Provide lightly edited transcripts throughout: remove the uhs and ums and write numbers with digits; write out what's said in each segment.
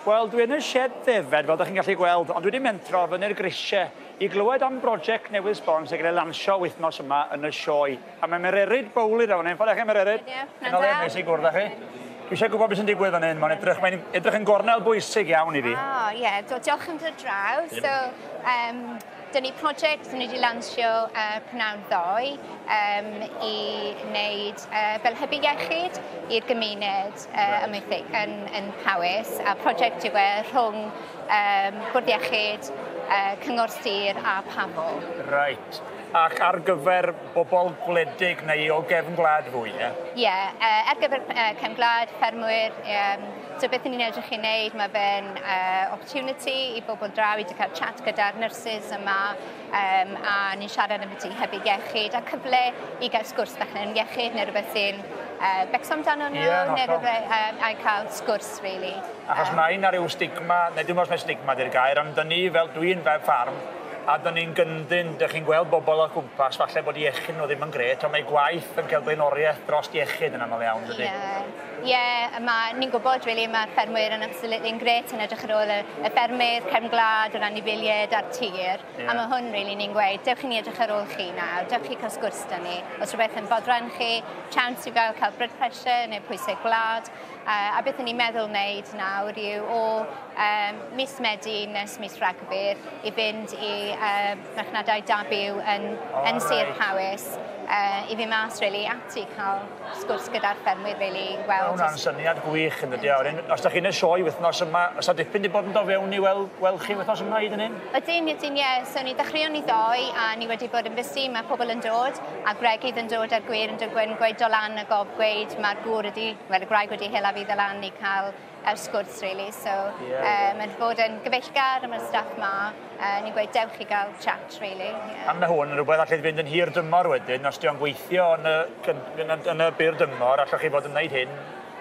Wel, dwi yn y sied ddefed, fel ydych chi'n gallu gweld, ond dwi wedi mentro fyny'r grisiau i glywed am brosiect newydd sbon sy'n cael ei lansio wythnos yma yn y sioe. A mae Mererid Bowley draw fan hyn. Ffordd chi, Mererid? Ie, pnawn da. Neis i gwrdd â chi. Dwi eisiau gwybod beth sy'n digwydd fan hyn. Mae'n edrych yn gornel bwysig iawn i fi. O, ie. Diolch am dod draw. So, dyn ni prosiect ni wedi lansio pnawn ddoe i wneud fel hybu iechyd i'r gymuned amaethig yn Powys. A prosiect yw e rhwng Bwrdd Iechyd, Cyngor Sir a Pafo. Reit. Ac ar gyfer bobl gwledig neu o gefn gwlad fwy, ie? Ie, ar gyfer cefn gwlad, ffermwyr. So beth ni'n edrych i wneud, mae fe'n opportunity i bobl draw i cael chat gyda'r nyrsys yma, a ni'n siarad am beth hybu iechyd a cyfle i gael sgwrs bach yn iechyd neu rhywbeth sy'n becso amdano nhw, neu rhywbeth, a cael sgwrs, really. Achos mae yna rhyw stigma, neu dwi'n meddwl mai stigma di'r gair, ond dyn ni fel dwi'n fel ffarm, a dyn ni'n gyndyn, dych chi'n gweld bobl o gwmpas, falle bod iechyd nhw ddim yn gret, ond mae gwaith yn cael blaenoriaeth dros iechyd yn aml iawn, dydy? Ie, yeah, ni'n gwybod, really, mae'r ffermwyr yn absolutely yn gret yn edrych ar ôl y ffermydd, cefn gwlad, yr anifeiliaid a'r tir. A mae hwn, really, ni'n gweud, dewch i ni edrych ar ôl chi nawr, dewch chi cael sgwrs da ni. Os rhywbeth yn bodran chi, chance i gael blood pressure neu pwysau gwlad. A beth ni'n meddwl wneud nawr yw o mis Medi nes mis Rhagfyr i fynd i marchnadau da byw yn Sir Powys i fynd mas, really, ati cael sgwrs gyda'r ffermwyr, really, weld. Mae hwnna'n syniad gwych yn dydi. Os da chi'n y sioe wythnos yma, oes 'na dipyn di bod yn dod fewn i weld chi wythnos yma hyd yn hyn? Ydyn, ydyn, ie. So ni ddechreuon ni ddoe a ni wedi bod yn busy, mae pobl yn dod a gwregydd yn dod a'r gwŷr yn dod gweud, gweud do lan y gob gweud mae'r gŵr wedi, wel y gwraig wedi hela fi ddod lan i cael sgwrs, really. So mae'n bod yn gyfeillgar am y staff ma. Ni'n gweud dewch i gael chat, really. Yeah. A mae hwn yn rhywbeth allai fynd yn hir dymor wedyn, os di o'n gweithio yn y byr dymor, allwch chi fod yn gwneud hyn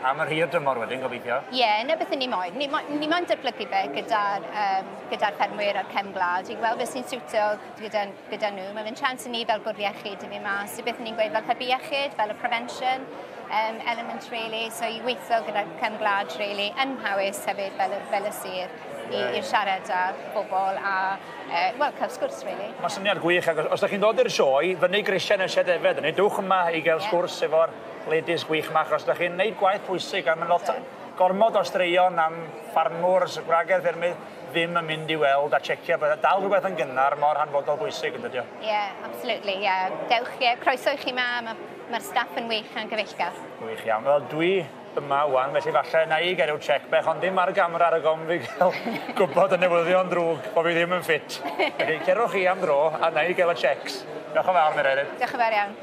am yr hir dymor wedyn, gobeithio. Ie, yeah, 'na beth ni moyn. Ni moyn datblygu fe gyda ffermwyr a'r cefn gwlad i gweld beth sy'n siwtio gyda nhw. Mae fe'n chance i ni fel bwrdd iechyd i fi mas. I beth ni'n gweud fel hybu iechyd, fel y prevention element, really. So i weithio gyda cefn gwlad, really, yn Mhowys hefyd fel y sir i siarad â bobl a, wel, cael sgwrs, really. Mae syniad gwych, ac os ydych chi'n dod i'r sioe, fyny grisiau yn y sied defed, neu dwch yma i gael sgwrs efo'r ladies gwych yma, achos ydych chi'n neud gwaith pwysig, a mae'n lot gormod o straeon am ffarmwr, gwragedd ffermydd, ddim yn mynd i weld a checio, bydde dal rhywbeth yn gynnar mor hanfodol bwysig yn dydio. Ie, yeah, absolutely, ie. Yeah. Dewch, yeah, croeso i chi ma, mae'r staff yn wych a'n gyfeillgar. Gwych iawn. Wel, dwi yma wan, felly falle na i gael rhyw check bech, ond dim ar y gamera ar y gom fi gael gwybod y newyddion drwg bod fi ddim yn ffit. Felly, cerwch chi am dro a na i gael y checks. Diolch yn fawr, Mererid. Diolch yn fawr iawn.